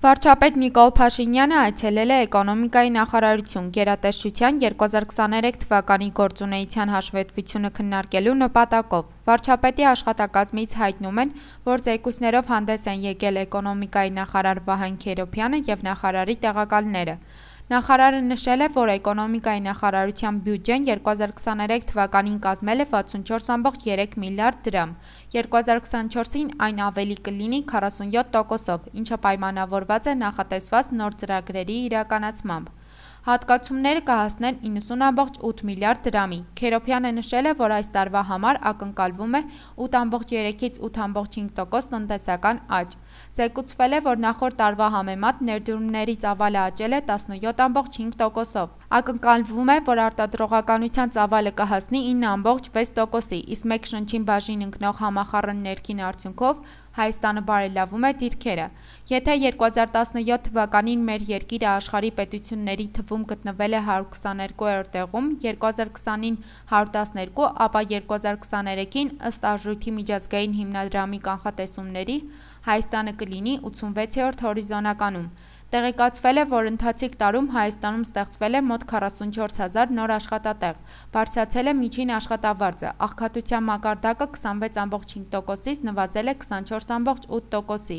Վարչապետ Նիկոլ Փաշինյանը այցելել է էկոնոմիկայի նախարարություն գերատեսչության 2023 թվականի գործունեության հաշվետվությունը քննարկելու նպատակով։ Վարչապետի աշխատակազմից հայտնում են, որ զեկույցներով հանդես են եկել էկոնոմիկայի նախարար Վահեն Քերոբյանը և նախարարի տեղակալները։ Նախարարը նշել է, որ էկոնոմիկայի նախարարության բյուջեն 2023 թվականին կազմել է 64.3 միլիարդ դրամ, 2024-ին այն ավելի կլինի 47%-ով, ինչը պայմանավորված է նախատեսված նոր ծրագրերի իրականացմամբ։ Հատկացումները կհասնեն 90.8 միլիարդ դրամի։ Քերոբյանը նշել է, որ այս տարվա համար ակնկալվում է 8.3-ից 8.5% տնտեսական աճ։ Զեկուցվել է, որ նախորդ տարվա համեմատ ներդրումների ծավալը աճել է 17.5%-ով։ Ակնկալվում է, որ արտադրողականության ծավալը կհասնի 9.6%-ի, իսկ մեկ շնչին բաժին ընկնող համախառն ներքին արդյունքով Հայաստանը բարելավում է դիրքերը։ Եթե 2017 թվականին մեր երկիրը աշխարհի պետությունների թվում գտնվել է 122-րդ տեղում, 2020-ին 112, ապա 2023-ին ըստ Արժույթի միջազգային հիմնադրամի կանխատեսումների Հայաստանը կլինի 86-րդ հորիզոնականում։ Տեղեկացվել է, որ ընթացիկ տարում Հայաստանում ստեղծվել է մոտ 44,000 նոր աշխատատեղ, բարձրացել է միջին աշխատավարձը, աղքատության մակարդակը 26.5%-ից նվազել է 24.8%-ի։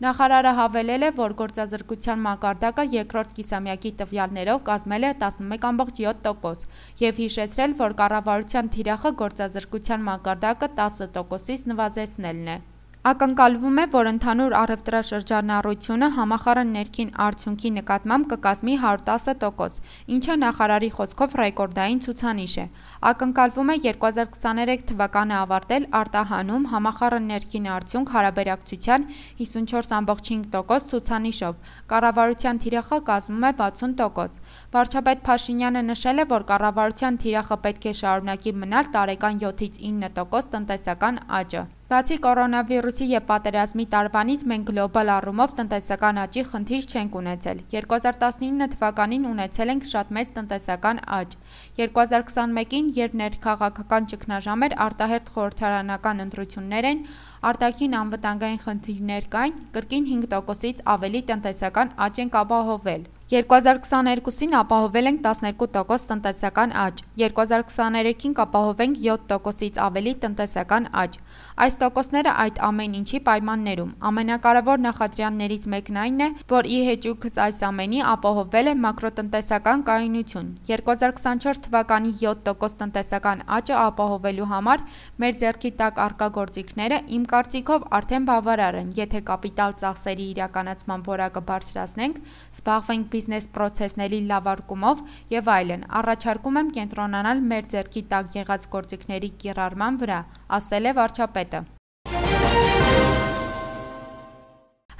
Նախարարը հավելել է, որ գործազրկության մակարդակը երկրորդ կիսամյակի տվյալներով կազմել է 11.7% և հիշեցրել, որ կառավարության թիրախը գործազրկության մակարդակը 10%-ից նվազեցնելն է։ Ակնկալվում է, որ ընդհանուր առևտրաշրջանառությունը համախառն ներքին արդյունքի նկատմամբ կկազմի 110%, ինչը նախարարի խոսքով ռեկորդային ցուցանիշ է։ Ակնկալվում է 2023 թվականը ավարտել արտահանում համախառն ներքին արդյունք հարաբերակցության 54.5% ցուցանիշով, կառավարության թիրախը կազմում է 60%։ Վարչապետ Փաշինյանը նշել է, որ կառավարության թիրախը պետք է շարունակի մնալ տարեկան 7-ից 9% տնտեսական աճը։ Բացի կորոնավիրուսի և պատերազմի տարվանից մենք գլոբալ առումով տնտեսական աճի խնդիր չենք ունեցել։ 2019 թվականին ունեցել ենք շատ մեծ տնտեսական աճ։ 2021-ին, երբ ներքաղաքական ճգնաժամ էր, արտահերթ խորհրդարանական ընտրություններ են, արտաքին անվտանգային խնդիրներ կային, կրկին 5%-ից ավելի տնտեսական աճ ենք ապահովել։ 2022-ին ապահովել ենք 12% տնտեսական աճ, 2023-ին կապահովենք 7%-ից ավելի տնտեսական աճ։ Այս տոկոսները այդ ամեն ինչի պայմաններում։ Ամենակարևոր նախադրյալներից մեկն այն է, որ ի հեճուկս այս ամենի ապահովվել է մակրոտնտեսական կայունություն։ 2024 թվականի 7% տնտեսական աճը ապահովելու համար մեր ձեռքի տակ առկա գործիքները, իմ կարծիքով, արդեն բավարար են, եթե կապիտալ ծախսերի իրականացման որակը բարձրացնենք, զբաղվենք բիզնես պրոցեսների լավարկումով և այլն։ Առաջարկում եմ կենտրոնանալ մեր ձեռքի տակ եղած գործիքների կիրառման վրա, ասել է վարչապետը։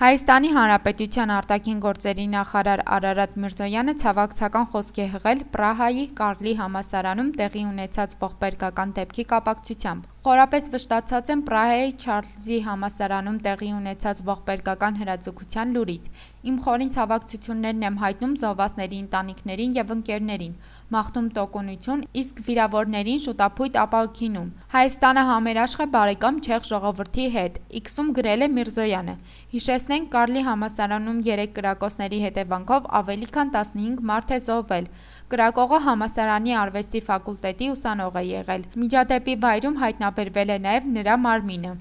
Հայաստանի Հանրապետության արտաքին գործերի նախարար Արարատ Միրզոյանը ցավակցական խոսք է հղել Պրահայի Կարլի համալսարանում տեղի ունեցած ողբերգական դեպքի կապակցությամբ։ Խորապես վշտացած եմ Պրահայի Չարլզի համալսարանում տեղի ունեցած ողբերգական հրաձգության լուրից։ Իմ խորին ցավակցություններն եմ հայտնում զոհվածների ընտանիքներին և ընկերներին, մաղթում տոկունություն, իսկ վիրավորներին շուտապույտ ապահովինում։ Հայաստանը համերաշխ է բարեկամ չեխ ժողովրդի հետ, X-ում գրել է Միրզոյանը։ Հիշեցնենք, Կարլի համալսարանում 3 կրակոցների հետևանքով ավելի քան 15 մարդ է զոհվել։ Կրակողը համալսարանի արվեստի ֆակուլտետի ուսանող է եղել։ Միջադեպի վայրում հայտնաբերվել է նաև նրա մարմինը։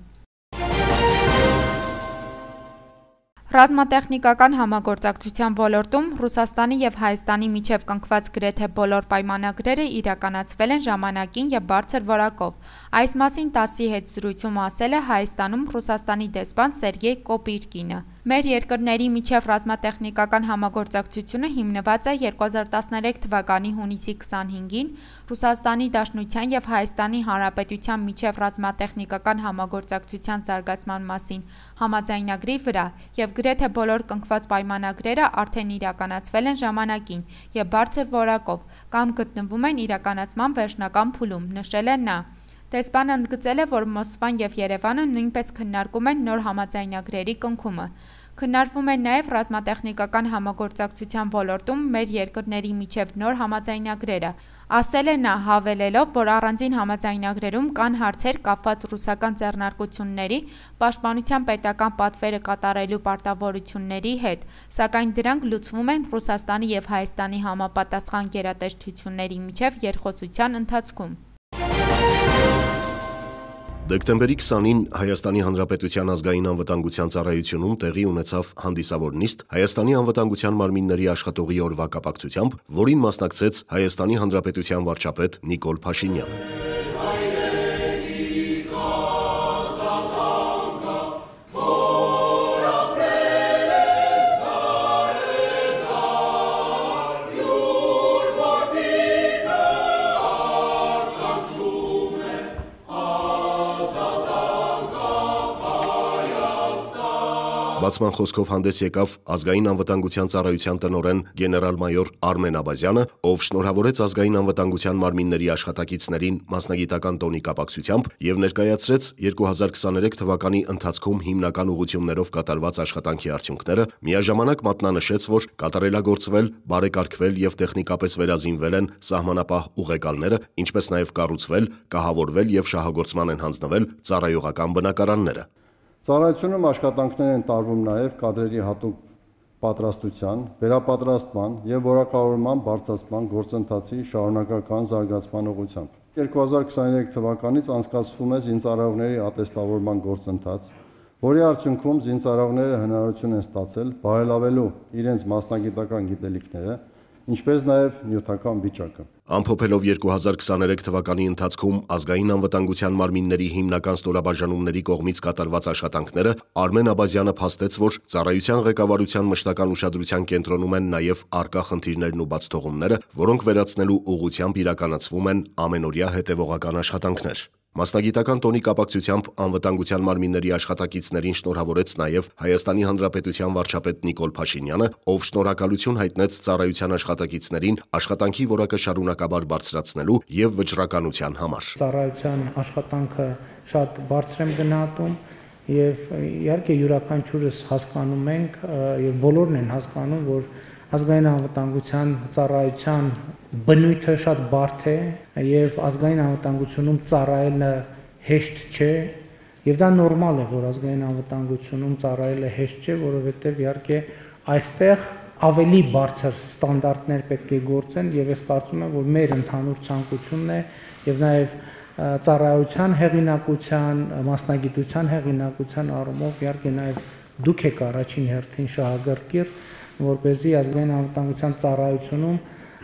Ռազմատեխնիկական համագործակցության ոլորտում Ռուսաստանի և Հայաստանի միջև կնքված գրեթե բոլոր պայմանագրերը իրականացվել են ժամանակին և բարձր որակով։ Այս մասին ՏԱՍՍ-ի հետ զրույցում ասել է Հայաստանում Ռուսաստանի դեսպան Սերգեյ Կոպիրկինը։ Մեր երկրների միջև ռազմատեխնիկական համագործակցությունը հիմնված է 2013 թվականի հունիսի 25-ին Ռուսաստանի Դաշնության և Հայաստանի Հանրապետության միջև ռազմատեխնիկական համագործակցության զարգացման մասին համաձայնագրի վրա և գրեթե բոլոր կնքված պայմանագրերը արդեն իրականացվել են ժամանակին և բարձր որակով կամ գտնվում են իրականացման վերջնական փուլում, նշել է նա։ Դեսպանը ընդգծել է, որ Մոսկվան և Երևանը նույնպես քննարկում են նոր համաձայնագրերի կնքումը։ Քննարկվում է նաև ռազմատեխնիկական համագործակցության ոլորտում մեր երկրների միջև նոր համաձայնագրերը, ասել է նա, հավելելով, որ առանձին համաձայնագրերում կան հարցեր կապված ռուսական ձեռնարկությունների, պաշտպանության պետական պատվերը կատարելու պարտավորությունների հետ, սակայն դրանք լուծվում են Ռուսաստանի և Հայաստանի համապատասխան գերատեսչությունների միջև երկխոսության ընթացքում։ Դեկտեմբերի 20-ին Հայաստանի Հանրապետության ազգային անվտանգության ծառայությունում տեղի ունեցավ հանդիսավոր նիստ Հայաստանի անվտանգության մարմինների աշխատողի օրվա կապակցությամբ, որին մասնակցեց Հայաստանի Հանրապետության վարչապետ Նիկոլ Փաշինյանը։ Բացման խոսքով հանդես եկավ ազգային անվտանգության ծառայության տնօրեն գեներալ-մայոր Արմեն Աբազյանը, ով շնորհավորեց ազգային անվտանգության մարմինների աշխատակիցներին մասնագիտական տոնի կապակցությամբ եւ ներկայացրեց 2023 թվականի ընթացքում հիմնական ուղղություններով կատարված աշխատանքի արդյունքները, միաժամանակ մատնանշեց, որ կատարելագործվել, բարեկարգվել եւ տեխնիկապես վերազինվել են սահմանապահ ուղեկալները, ինչպես նաեւ կառուցվել, կահավորվել եւ շահագործման են հանձնվել ծառայողական բնակարանները։ Ծառայությունում աշխատանքներ են տարվում նաև կադրերի հատուկ պատրաստության, վերապատրաստման եւ որակավորման բարձրացման գործընթացի շարունակական զարգացման ուղղությամբ։ 2023 թվականից անցկացվում է զինծառայողների ատեստավորման գործընթաց, որի արդյունքում զինծառայողները հնարավորություն են ստացել բարելավելու իրենց մասնագիտական գիտելիքները, ինչպես նաև նյութական վիճակը։ Ամփոփելով 2023 թվականի ընթացքում ազգային անվտանգության մարմինների հիմնական ստորաբաժանումների կողմից կատարված աշխատանքները, Արմեն Աբազյանը փաստեց, որ ծառայության ղեկավարության մշտական ուշադրության կենտրոնում են նաև առկա խնդիրներն ու բացթողումները, որոնք վերացնելու ուղղությամբ իրականացվում են ամենօրյա հետևողական աշխատանքներ։ Մասնագիտական տոնի կապակցությամբ անվտանգության մարմինների աշխատակիցներին շնորհավորեց նաև Հայաստանի Հանրապետության վարչապետ Նիկոլ Փաշինյանը, ով շնորհակալություն հայտնեց ծառայության աշխատակիցներին աշխատանքի որակը շարունակաբար բարձրացնելու եւ վճռականության համար։ Ծառայության աշխատանքը շատ բարձր եմ գնահատում եւ իհարկե յուրաքանչյուրս հասկանում ենք եւ բոլորն են հասկանում, որ ազգային անվտանգության ծառայության բնույթը շատ բարդ է եւ ազգային անվտանգությունում ծառայելը հեշտ չէ եւ դա նորմալ է, որ ազգային անվտանգությունում ծառայելը հեշտ չէ, որովհետեւ իհարկե այստեղ ավելի բարձր ստանդարտներ պետք է գործեն եւ ես կարծում եմ, որ մեր ընդհանուր ցանկությունն է եւ նաեւ ծառայության հեղինակության, մասնագիտության հեղինակության առումով իհարկե նաեւ դուք եք առաջին հերթին շահագրգիռ, որպեսզի ազգային անվտանգության ծառայությունում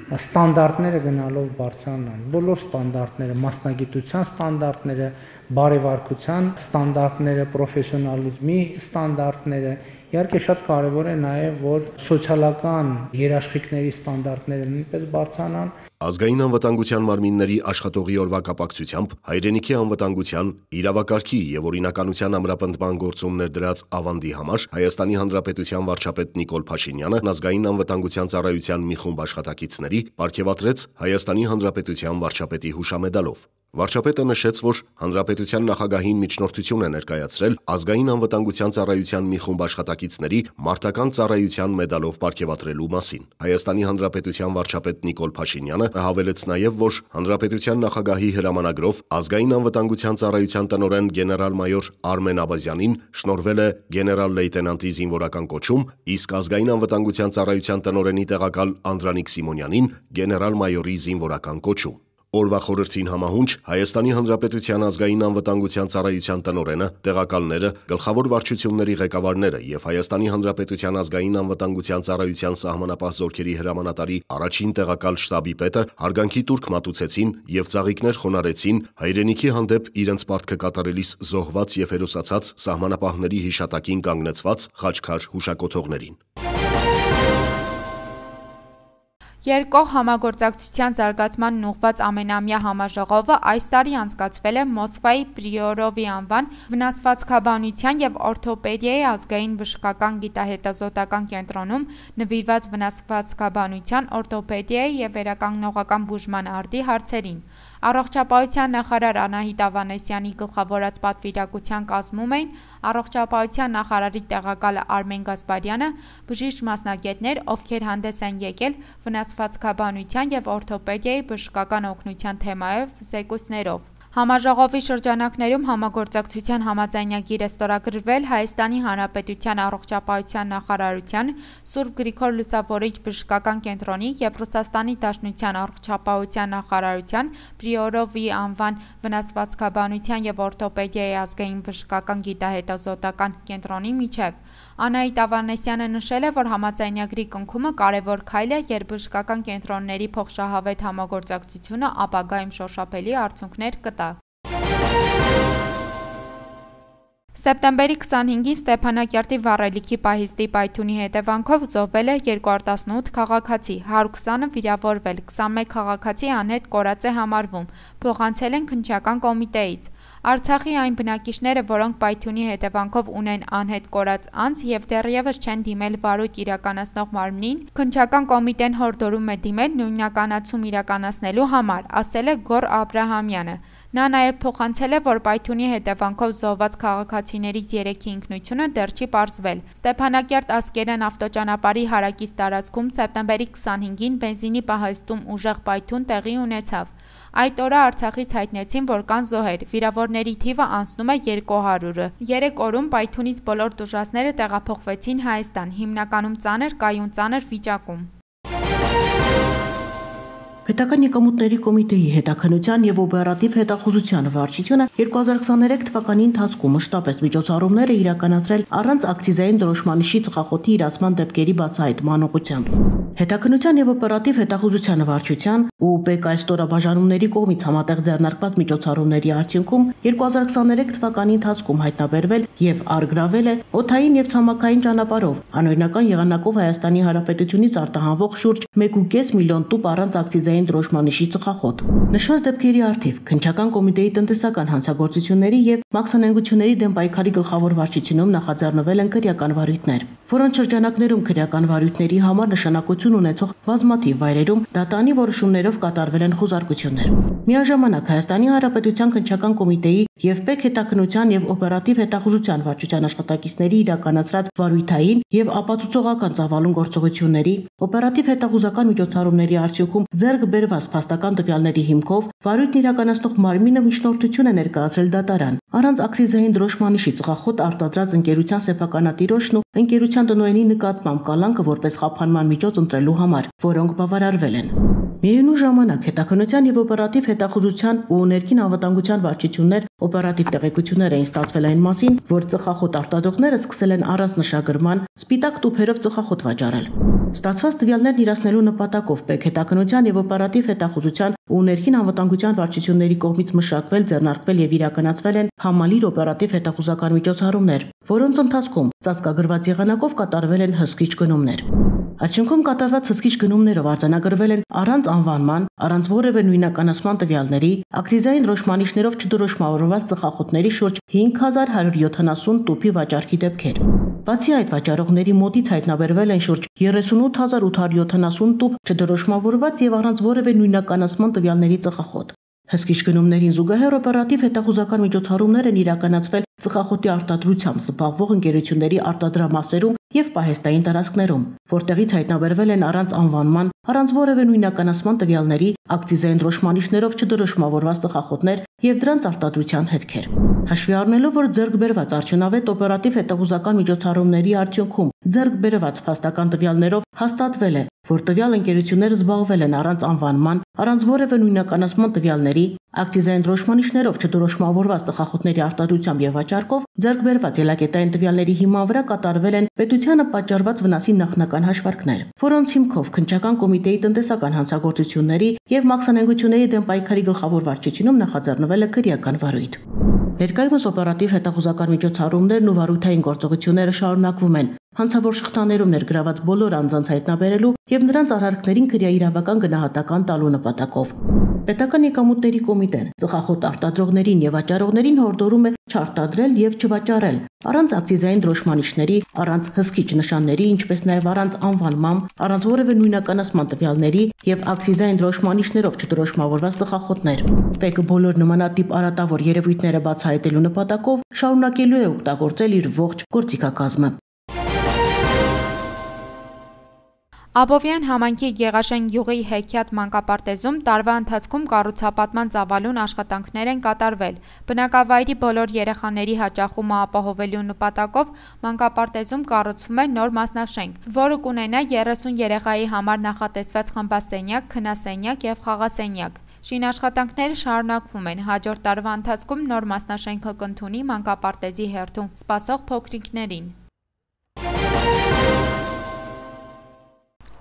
ստանդարտները գնալով բարձրանան։ Բոլոր ստանդարտները, մասնագիտության ստանդարտները, բարևարկության ստանդարտները, պրոֆեսիոնալիզմի ստանդարտները, իհարկե շատ կարևոր է նաև, որ սոցիալական երաշխիքների ստանդարտները նույնպես բարձրանան։ Ազգային անվտանգության մարմինների աշխատողի օրվա կապակցությամբ հայրենիքի անվտանգության, իրավակարգի եւ օրինականության ամրապնդման գործում ներդրած ավանդի համար Հայաստանի Հանրապետության վարչապետ Նիկոլ Փաշինյանը ազգային անվտանգության ծառայության մի խումբ աշխատակիցների պարգևատրեց Հայաստանի Հանրապետության վարչապետի հուշամեդալով։ Վարչապետը նշեց, որ Հանրապետության նախագահին միջնորդություն է ներկայացրել ազգային անվտանգության ծառայության մի խումբ աշխատակիցների մարտական ծառայության մեդալով պարգևատրելու մասին։ Հայաստանի Հանրապետության վարչապետ Նիկոլ Փաշինյանը հավելեց նաև, որ Հանրապետության նախագահի հրամանագրով ազգային անվտանգության ծառայության տնօրեն գեներալ-մայոր Արմեն Աբազյանին շնորհվել է գեներալ-լեյտենանտի զինվորական կոչում, իսկ ազգային անվտանգության ծառայության տնօրենի տեղակալ Անդրանիկ Սիմոնյանին գեներալ-մայորի զինվորական կոչում։ Օրվա խորհրդին համահունչ Հայաստանի Հանրապետության ազգային անվտանգության ծառայության տնօրենը, տեղակալները, գլխավոր վարչությունների ղեկավարները եւ Հայաստանի Հանրապետության ազգային անվտանգության ծառայության սահմանապահ զորքերի հրամանատարի առաջին տեղակալ շտաբի պետը հարգանքի տուրք մատուցեցին եւ ծաղիկներ խոնարհեցին հայրենիքի հանդեպ իրենց պարտքը կատարելիս զոհված եւ հերոսացած սահմանապահների հիշատակին կանգնեցված խաչքար հուշակոթողներին։ Երկկողմ համագործակցության զարգացմանն ուղղված ամենամյա համաժողովը այս տարի անցկացվել է Մոսկվայի Պրիորովի անվան վնասվածքաբանության եւ օրթոպեդիայի ազգային բժշկական գիտահետազոտական կենտրոնում նվիրված վնասվածքաբանության, օրթոպեդիայի եւ վերականգնողական բուժման արդի հարցերին։ Առողջապահության նախարար Անահիտ Ավանեսյանի գլխավորած պատվիրակության կազմում էին առողջապահության նախարարի տեղակալ Արմեն Գասպարյանը, բժիշկ մասնագետներ, ովքեր հանդես են եկել վնասվածքաբանության և օրթոպեդիայի բժշկական օգնության թեմայով զեկույցներով։ Համաժողովի շրջանակներում համագործակցության համաձայնագիր է ստորագրվել Հայաստանի Հանրապետության առողջապահության նախարարության, Սուրբ Գրիգոր Լուսավորիչ բժշկական կենտրոնի և Ռուսաստանի Դաշնության առողջապահության նախարարության, Պրիորովի անվան վնասվածքաբանության և օրթոպեդիայի ազգային բժշկական գիտահետազոտական կենտրոնի միջև։ Անահիտ Ավանեսյանը նշել է, որ համաձայնագրի կնքումը կարևոր քայլ է, երբ բժշկական կենտրոնների փոխշահավետ համագործակցությունը ապագայում շոշափելի արդյունքներ կտա։ Սեպտեմբերի 25-ին Ստեփանակերտի Վառելիքի պահիստի պայթյունի հետևանքով զոհվել է 218 քաղաքացի, 120-ը վիրավորվել, 21 քաղաքացի անհետ կորած է համարվում, փոխանցել են քննչական կոմիտեից։ Արցախի այն բնակիչները, որոնք պայթյունի հետևանքով ունեն անհետ կորած անձ և դեռևս չեն դիմել վարույթ իրականացնող մարմնին, քննչական կոմիտեն հորդորում է դիմել նույնականացում իրականացնելու համար, ասել է Գոռ Աբրահամյանը։ Նա նաև փոխանցել է, որ պայթյունի հետևանքով զոհված քաղաքացիներից 3-ի ինքնությունը դեռ չի պարզվել։ Ստեփանակերտ Ասկերան ավտոճանապարհի հարակից տարածքում սեպտեմբերի 25-ին բենզինի պահեստում ուժեղ պայթյուն տեղի ունեցավ։ Այդ օրը Արցախից հայտնեցին, որ կան զոհեր, վիրավորների թիվը անցնում է 200-ը։ 3 օրում պայթյունից բոլոր տուժածները տեղափոխվեցին Հայաստան, հիմնականում ծանր, կայուն ծանր վիճակում։ Պետական եկամուտների կոմիտեի հետաքննության և օպերատիվ հետախուզության վարչությունը 2023 թվականի ընթացքում մշտապես միջոցառումներ է իրականացրել առանց ակցիզային դրոշմանիշի ծխախոտի իրացման դեպքերի բացահայտման ուղղությամբ։ Հետաքննության և օպերատիվ հետախուզության վարչության ու ՊԿ ստորաբաժանումների կողմից համատեղ ձեռնարկված միջոցառումների արդյունքում 2023 թվականի ընթացքում հայտնաբերվել և առգրավել է օդային և ցամաքային ճանապարհով անօրինական եղանակով Հայաստանի Հանրապետությունից արտահանվող շուրջ 1.5 միլիոն տուփ առանց ակցիզային դրոշմանիշի ծխախոտ։ Նշված դեպքերի առթիվ քննչական կոմիտեի տնտեսական հանցագործությունների և մաքսանենգությունների դեմ պայքարի գլխավոր վարչությունում նախաձեռնվել են քրեական վարույթներ, որոնց շրջանակներում քրեական վարույթների համար նշանակություն ունեցող բազմաթիվ վայրերում դատանի որոշումներով կատարվել են խուզարկություններ։ Միաժամանակ Հայաստանի Հանրապետության քննչական կոմիտեի և ՊԿ հետաքննության և օպերատիվ հետախուզության վարչության աշխատակիցների իրականացրած վարույթային և ապացուցողական ծավալուն գործողությունների, օպերատիվ հետախուզական միջոցառումների արդյունքում ձեռք բերված փաստական տվյալների հիմքով վարույթն իրականացնող մարմինը միջնորդություն է ներկայացրել դատարան առանց ակցիզային դրոշմանիշի ծխախոտ արտադրած ընկերության սեփականատիրոջն ու ընկերության տնօրենի նկատմամբ կալանքը որպես խափանման միջոց ընտրելու համար, որոնք բավարարվել են։ Միևնույն ժամանակ հետաքննության և օպերատիվ հետախուզության ու ներքին անվտանգության վարչություններ օպերատիվ տեղեկություններ էին ստացվել այն մասին, որ ծխախոտ արտադրողները սկսել են առանց նշագրման սպիտակ տուփերով ծխախոտ վաճառել։ Ստացված տվյալներն իրացնելու նպատակով ՊԿ հետաքննության և օպերատիվ հետախուզության ու ներքին անվտանգության վարչությունների կողմից մշակվել, ձեռնարկվել և իրականացվել են համալիր օպերատիվ հետախուզական միջոցառումներ, որոնց ընթացքում ծածկագրված եղանակով կատարվել են հսկիչ գնումներ։ Արդյունքում կատարված հսկիչ գնումներով արձանագրվել են առանց անվանման, առանց որևէ նույնականացման տվյալների, ակցիզային դրոշմանիշներով չդրոշմավորված ծխախոտների շուրջ 5170 տուփի վաճառքի դեպքեր։ Բացի այդ, վաճառողների մոտից հայտնաբերվել են շուրջ 38870 տուփ չդրոշմավորված և առանց որևէ նույնականացման տվյալների ծխախոտ։ Հսկիչ գնումներին զուգահեռ օպերատիվ հետախուզական միջոցառումներ են իրականացվել ծխախոտի արտադրությամբ զբաղվող ընկերությունների արտադրամասերում և պահեստային տարածքներում, որտեղից հայտնաբերվել են առանց անվանման, առանց որևէ նույնականացման տվյալների, ակցիզային դրոշմանիշներով չդրոշմավորված ծխախոտներ և դրանց արտադրության հետքեր։ Հաշվի առնելով, որ ձեռք բերված արդյունավետ օպերատիվ հետախուզական միջոցառումների արդյունքում ձեռք բերված փաստական տվյալներով հաստատվել է, որ տվյալ ընկերությունները զբաղվել են առանց անվանման, առանց որևէ նույնականացման տվյալների, ակցիզային դրոշմանիշներով չդրոշմավորված ծխախոտների արտադրությամբ և վաճառքով, ձեռք բերված ելակետային տվյալների հիման վրա կատարվել են պետությանը պատճառված վնասի նախնական հաշվարկներ, որոնց հիմքով քննչական կոմիտեի տնտեսական հանցագործությունների և մաքսանենգությունների դեմ պայքարի գլխավոր վարչությունում նախաձեռնվել է քրեական վարույթ։ Ներկայումս օպերատիվ հետախուզական միջոցառումներն ու վարույթային գործողությունները շարունակվում են հանցավոր շղթաներում ներգրաված բոլոր անձանց հայտնաբերելու և նրանց արարքներին քրեաիրավական գնահատական տալու նպատակով։ Պետական եկամուտների կոմիտեն ծխախոտ արտադրողներին եւ վաճառողներին հորդորում է չարտադրել եւ չվաճառել առանց ակցիզային դրոշմանիշների, առանց հսկիչ նշանների, ինչպես նաեւ առանց անվանման, առանց որևէ նույնականացման տվյալների եւ ակցիզային դրոշմանիշներով չդրոշմավորված ծխախոտներ։ ՊԵԿ-ը բոլոր նմանատիպ արատավոր երևույթները բացահայտելու նպատակով շարունակելու է օգտագործել իր ողջ գործիքակազմը։ Աբովյան համայնքի Գեղաշեն գյուղի հեքիաթ մանկապարտեզում տարվա ընթացքում կառուցապատման ծավալուն աշխատանքներ են կատարվել։ Բնակավայրի բոլոր երեխաների հաճախումը ապահովելու նպատակով մանկապարտեզում կառուցվում է նոր մասնաշենք, որը կունենա 30 երեխայի համար նախատեսված խմբասենյակ, քնասենյակ եւ խաղասենյակ։ Շինաշխատանքները շարունակվում են։ Հաջորդ տարվա ընթացքում նոր մասնաշենքը կընդունի մանկապարտեզի հերթում սպասող փոքրիկներին։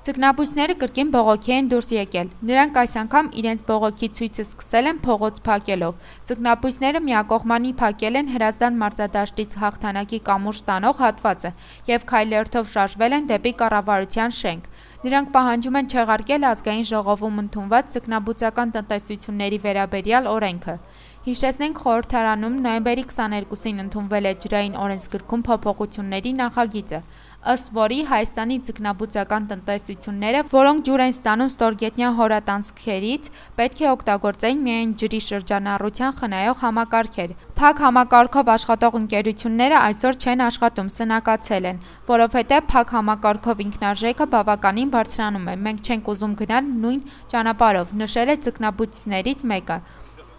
Ձկնաբույսները կրկին բողոքի են դուրս եկել։ Նրանք այս անգամ իրենց բողոքի ցույցը սկսել են փողոց փակելով։ Ձկնաբույսները միակողմանի փակել են Հրազդան մարզադաշտից հաղթանակի կամուրջ տանող հատվածը եւ քայլերթով շարժվել են դեպի կառավարության շենք։ Նրանք պահանջում են չեղարկել ազգային ժողովում ընդունված ձկնաբուծական տնտեսությունների վերաբերյալ օրենքը։ Հիշեցնենք, խորհրդարանում նոյեմբերի 22-ին ընդունվել է ջրային օրենսգրքում փոփոխությունների նախագիծը, ըստ որի Հայաստանի ձկնաբուծական տնտեսությունները, որոնք ջուր են ստանում ստորգետնյա հորատանցքերից, պետք է օգտագործեին միայն ջրի շրջանառության խնայող համակարգեր։ Փակ համակարգով աշխատող ընկերությունները այսօր չեն աշխատում, սնանկացել են, որովհետև փակ համակարգով ինքնարժեքը բավականին բարձրանում է։ Մենք չենք ուզում գնալ նույն ճանապարհով, նշել է ձկնաբույսներից մեկը։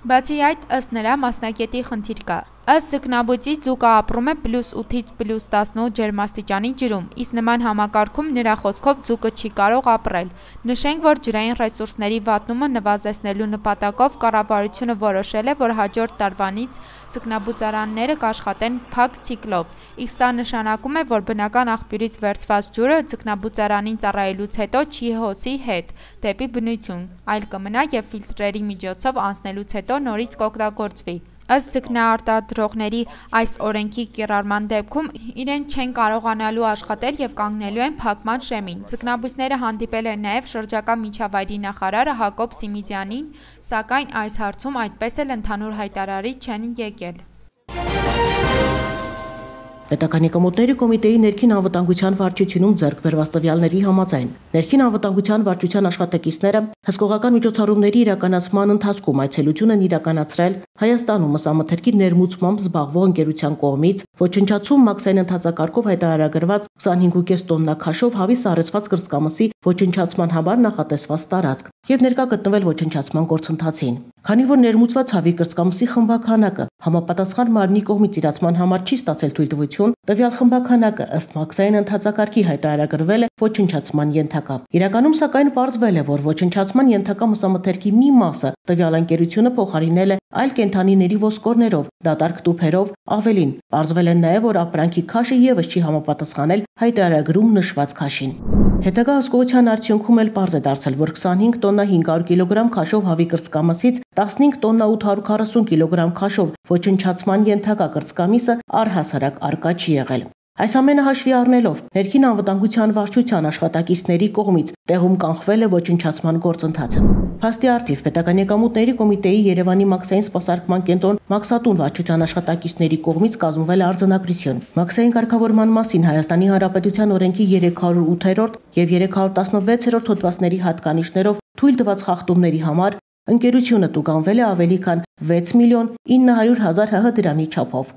Բացի այդ, ըստ նրա, մասնագետի խնդիր կա։ Ըստ ձկնաբույսի ձուկը ապրում է +8-ից +18 ջերմաստիճանի ջրում, իսկ նման համակարգում նրա խոսքով ձուկը չի կարող ապրել։ Նշենք, որ ջրային ռեսուրսների վատնումը նվազեցնելու նպատակով կառավարությունը որոշել է, որ հաջորդ տարվանից ձկնաբուծարանները կաշխատեն փակ ցիկլով, իսկ սա նշանակում է, որ բնական աղբյուրից վերցված ջուրը ձկնաբուծարանին ծառայելուց հետո չի հոսի հետ դեպի բնություն, այլ կմնա եւ ֆիլտրերի միջոցով անցնելուց հետո նորից կօգտագործվի։ Ըստ ձկնարտադրողների այս օրենքի կիրառման դեպքում իրենք չեն կարողանալու աշխատել եւ կանգնելու են փակման շեմին։ Ձկնաբույսները հանդիպել են նաեւ շրջակա միջավայրի նախարարը Հակոբ Սիմիդյանին, սակայն այս հարցում այդպես էլ ընդհանուր հայտարարի չեն եկել։ Պետական եկամուտների կոմիտեի ներքին անվտանգության վարչությունում ձեռք բերված տվյալների համաձայն ներքին անվտանգության վարչության աշխատակիցները հսկողական միջոցառումների իրականացման ընթացքում այցելություն են իրականացրել Հայաստանում ըսամթերքի ներմուծմամբ զբաղվող ընկերության կողմից ոչնչացում մաքսային ընթացակարգով հայտարարագրված 25.5 տոննա քաշով հավի սառեցված կրծքամսի ոչնչացման համար նախատեսված տարածք եւ ներկա գտնվել ոչնչացման գործընթացին։ Քանի որ ներմուծված հավի կրծքամսի խմբաքանակը համապատասխան մարմնի կողմից իրացման համար չի ստացել թույլտվություն, տվյալ խմբաքանակը ըստ մաքսային ընթացակարգի հայտարարագրվել է ոչնչացման ենթակա։ Իրականում սակայն պարզվել է, որ ոչնչացման ենթակա մսամթերքի մի մասը տվյալ ընկերությունը փոխարինել է այլ կենդանիների ոսկորներով, դատարկ տուփերով, ավելին, պարզվել է նաև, որ ապրանքի քաշը եւս չի համապատասխանել հայտարարագրում նշված քաշին։ Հետագա հսկողության արդյունքում էլ պարզ է դարձել, որ 25 տոննա 500 կիլոգրամ քաշով հավի կրծքամսից 15 տոննա 840 կիլոգրամ քաշով ոչնչացման ենթակա կրծքամիսը առհասարակ արկա չի եղել։ Այս ամենը հաշվի առնելով ներքին անվտանգության վարչության աշխատակիցների կողմից տեղում կանխվել է ոչնչացման գործընթացը։ Փաստի առթիվ պետական եկամուտների կոմիտեի Երևանի մաքսային սպասարկման կենտրոն Մաքսատուն վարչության աշխատակիցների կողմից կազմվել է արձանագրություն։ Մաքսային կարգավորման մասին Հայաստանի Հանրապետության օրենքի 308-րդ եւ 316-րդ հոդվածների հատկանիշներով թույլ տված խախտումների համար ընկերությունը տուգանվել է ավելի քան 6 միլիոն 900 հազար ՀՀ դրամի չափով։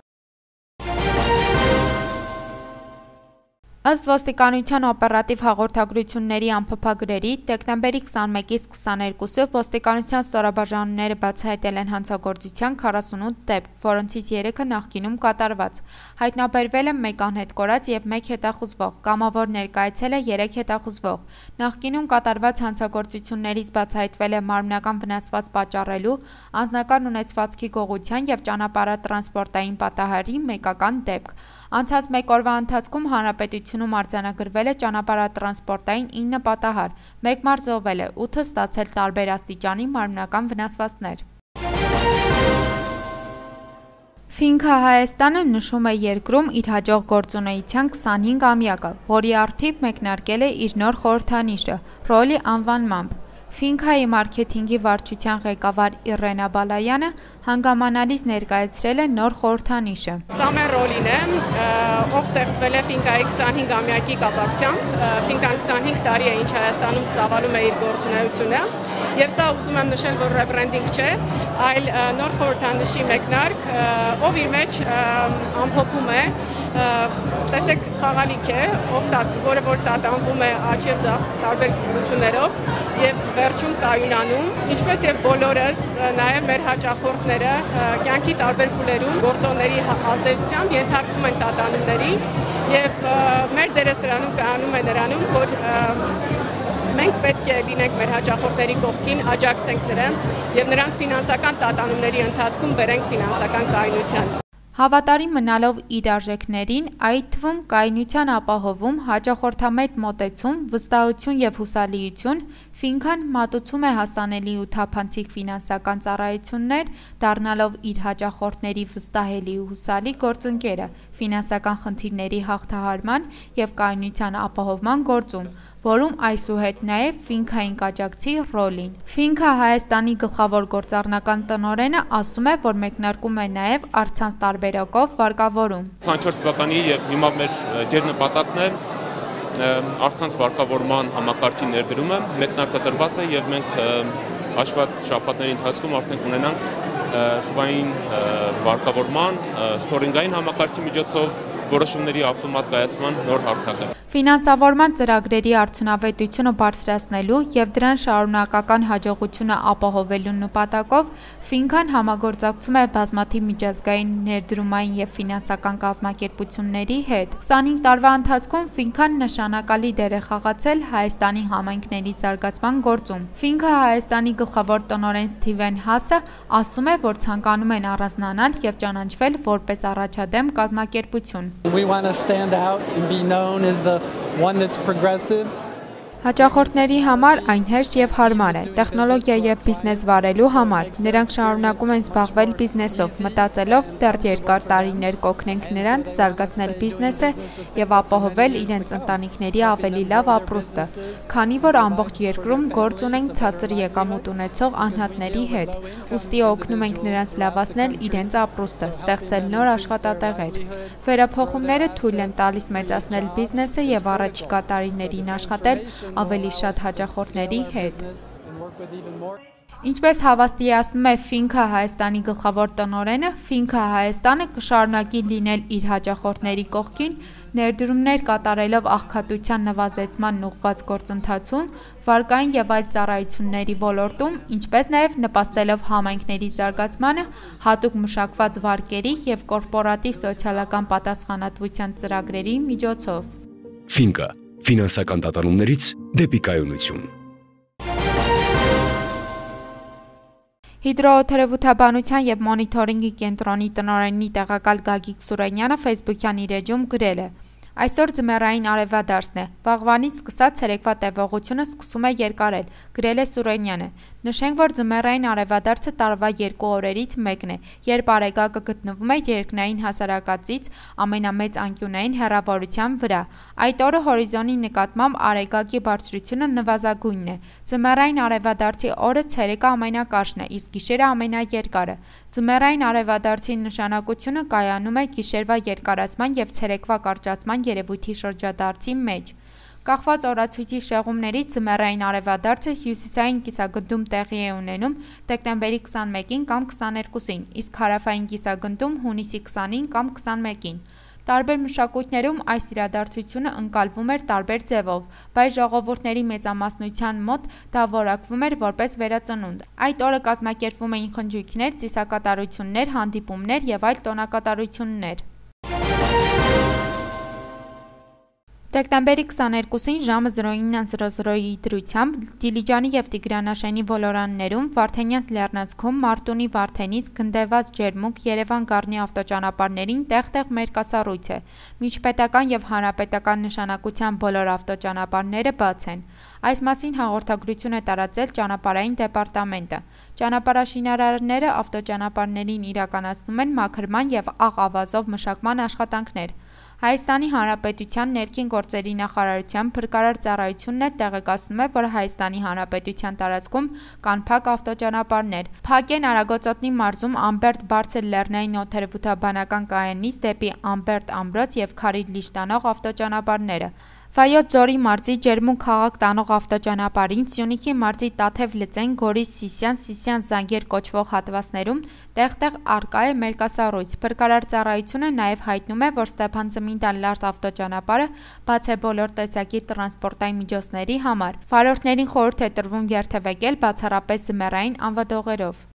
Ըստ ոստիկանության օպերատիվ հաղորդագրությունների ամփոփագրերի, դեկտեմբերի 21-ից 22-ը ոստիկանության ստորաբաժանումները բացահայտել են հանցագործության 48 դեպք, որոնցից 3-ը նախկինում կատարված։ Հայտնաբերվել է 1 անհետ կորած եւ 1 հետախուզվող, կամավոր ներկայացել է 3 հետախուզվող։ Նախկինում կատարված հանցագործություններից բացահայտվել է մարմնական վնասված պատճառելու, անձնական ունեցվածքի գողության եւ ճանապարհատրանսպորտային պատահարի մեկական դեպք։ Անցած 1 օրվա ընթացքում հանրապետությունում արձանագրվել է ճանապարհատրանսպորտային 9 պատահար, 1 մարդ զոհվել է, 8-ը ստացել տարբեր աստիճանի մարմնական վնասվածքներ։ Ֆինքա Հայաստանը նշում է երկրում իր հաջող գործունեության 25-ամյակը, որի առթիվ մեկնարկել է իր նոր խորհրդանիշը՝ ռոլի անվանմամբ։ Ֆինքայի մարքեթինգի վարչության ղեկավար Իռենա Բալայանը հանգամանալից ներկայացրել է նոր խորհրդանիշը։ Սա մեր ռոլին է, ով ստեղծվել է Ֆինքայի 25-ամյակի կապակցությամբ։ Ֆինքան 25 տարի է, ինչ Հայաստանում ծավալում է իր գործունեությունը, եւ սա ուզում եմ նշել, որ ռեբրենդինգ չէ, այլ նոր խորհրդանիշի մեկնարկ, ով իր մեջ ամփոփում է տեսեք խաղալիք է, որը որ տատանվում է աջ եւ ձախ տարբեր գույություններով եւ վերջում կայունանում, ինչպես եւ բոլորս նաեւ մեր հաճախորդները կյանքի տարբեր փուլերում գործոնների ազդեցությամբ ենթարկվում են տատանումների եւ մեր դերասրանում կայանում է նրանում, որ մենք պետք է լինենք մեր հաճախորդների կողքին, աջակցենք նրանց եւ նրանց ֆինանսական տատանումների ընթացքում բերենք ֆինանսական կայունության։ Հավատարիմ մնալով իր արժեքներին, այդ թվում կայունության ապահովում, հաճախորդամետ մոտեցում, վստահություն եւ հուսալիություն, Ֆինքան մատուցում է հասանելի ու թափանցիկ ֆինանսական ծառայություններ, դառնալով իր հաճախորդների վստահելի ու հուսալի գործընկերը ֆինանսական խնդիրների հաղթահարման եւ կայունության ապահովման գործում, որում այսուհետ նաեւ Ֆինքային կաջակցի ռոլին։ Ֆինքա Հայաստանի գլխավոր գործառնական տնօրենը ասում է, որ մեկնարկում է նաեւ առցանց տարբերակով վարկավորում։ 24 թվականի եւ հիմա մեր ջերնպատակն է առցանց վարկավորման համակարգի ներդրումը մեկնարկադրված է եւ մենք հաշված շաբաթների ընթացքում արդեն կունենանք թվային վարկավորման սթորինգային համակարգի միջոցով որոշումների ավտոմատ կայացման նոր հարթակը։ Ֆինանսավորման ծրագրերի արդյունավետությունը բարձրացնելու եւ դրան շարունակական հաջողությունը ապահովելու նպատակով Ֆինքան համագործակցում է բազմաթիվ միջազգային ներդրումային եւ ֆինանսական կազմակերպությունների հետ։ 25 տարվա ընթացքում Ֆինքան նշանակալի դեր է խաղացել Հայաստանի համայնքների զարգացման գործում։ Ֆինքա Հայաստանի գլխավոր տնօրեն Սթիվեն Հասը ասում է, որ ցանկանում են առանձնանալ եւ ճանաչվել որպես առաջադեմ կազմակերպություն։ We want to stand out and be known as the one that's progressive. Հաճախորդների համար այն հեշտ եւ հարմար է, տեխնոլոգիա եւ բիզնես վարելու համար։ Նրանք շարունակում են զբաղվել բիզնեսով, մտածելով դեռ երկար տարիներ կօգնենք նրանց զարգացնել բիզնեսը եւ ապահովել իրենց ընտանիքների ավելի լավ ապրուստը, քանի որ ամբողջ երկրում գործ ունենք ցածր եկամուտ ունեցող անհատների հետ, ուստի օգնում ենք նրանց լավացնել իրենց ապրուստը, ստեղծել նոր աշխատատեղեր։ Վերափոխումները թույլ են տալիս մեծացնել բիզնեսը եւ առաջիկա տարիներին աշխատել ավելի շատ հաճախորդների հետ։ Ինչպես հավաստիացնում է Ֆինքա Հայաստանի գլխավոր տնօրենը, Ֆինքա Հայաստանը կշարունակի լինել իր հաճախորդների կողքին, ներդրումներ կատարելով աղքատության նվազեցման ուղղված գործընթացում, վարկային եւ այլ ծառայությունների ոլորտում, ինչպես նաեւ նպաստելով համայնքների զարգացմանը, հատուկ մշակված վարկերի եւ կորպորատիվ սոցիալական պատասխանատվության ծրագրերի միջոցով։ Ֆինկա ֆինանսական տատանումներից դեպի կայունություն։ Հիդրոօթերևութաբանության եւ մոնիթորինգի կենտրոնի տնօրենի տեղակալ Գագիկ Սուրենյանը Facebook-յան իր էջում գրել է. Այսօր ձմեռային արևադարձն է, վաղվանից սկսած ցերեկվա տևողությունը սկսում է երկարել, գրել է Սուրենյանը։ Նշենք, որ ձմեռային արևադարձը տարվա 2 օրերից մեկն է, երբ Արեգակը գտնվում է երկնային հասարակածից ամենամեծ անկյունային հեռավորության վրա։ Այդ օրը հորիզոնի նկատմամբ Արեգակի բարձրությունը նվազագույնն է։ Ձմեռային արևադարձի օրը ցերեկը ամենակարճն է, իսկ գիշերը ամենաերկարը։ Ձմեռային արևադարձի նշանակությունը կայանում է գիշերվա երկարացման եւ ցերեկվա կարճացման երևույթի շրջադարձի մեջ։ Կախված օրացույցի շեղումներից ձմեռային արևադարձը հյուսիսային կիսագնդում տեղի է ունենում դեկտեմբերի 21-ին կամ 22-ին, իսկ հարավային կիսագնդում հունիսի 20-ին կամ 21-ին։ Տարբեր մշակույթներում այս իրադարձությունը ընկալվում էր տարբեր ձևով, բայց ժողովուրդների մեծամասնության մոտ դա որակվում էր որպես վերածնունդ։ Այդ օրը կազմակերպվում էին խնջույքներ, ծիսակատարություններ, հանդիպումներ եւ այլ տոնակատարություններ։ Դեկտեմբերի 22-ին ժամը 09:00-ի դրությամբ Դիլիջանի եւ Տիգրանաշենի ոլորաններում Վարդենյանց լեռնանցքում Մարտունի Վարդենից գնդեված ջերմուկ Երևան-Գառնի ավտոճանապարհներին տեղ-տեղ մերկասառույց է։ Միջպետական եւ հանրապետական նշանակության բոլոր ավտոճանապարհները բաց են։ Այս մասին հաղորդագրություն է տարածել ճանապարհային դեպարտամենտը։ Ճանապարհաշինարարները ավտոճանապարհներին իրականացնում են մաքրման եւ աղ ավազով մշակման աշխատանքներ։ Հայաստանի Հանրապետության ներքին գործերի նախարարության փրկարար ծառայությունն էլ տեղեկացնում է, որ Հայաստանի Հանրապետության տարածքում կան փակ ավտոճանապարհներ։ Փակ են Արագածոտնի մարզում Ամբերտ բարձր լեռնային օդերևութաբանական կայանից դեպի Ամբերտ ամրոց եւ Քարիդլիշ տանող ավտոճանապարհները։ Վայոց ձորի մարզի Ջերմուն քաղաք տանող ավտոճանապարհին, Սյունիքի մարզի Տաթև Լծեն, Գորիս Սիսյան, Սիսյան Զանգեր կոչվող հատվածներում տեղ-տեղ առկա է մերկասառույց։ Փրկարար ծառայությունը նաև հայտնում է, որ Ստեփան-Ծմինդան Լարտ ավտոճանապարհը բաց է բոլոր տեսակի տրանսպորտային միջոցների համար։ Վարորդներին խորհուրդ է տրվում երթևեկել բացառապես զմեռային անվադողերով։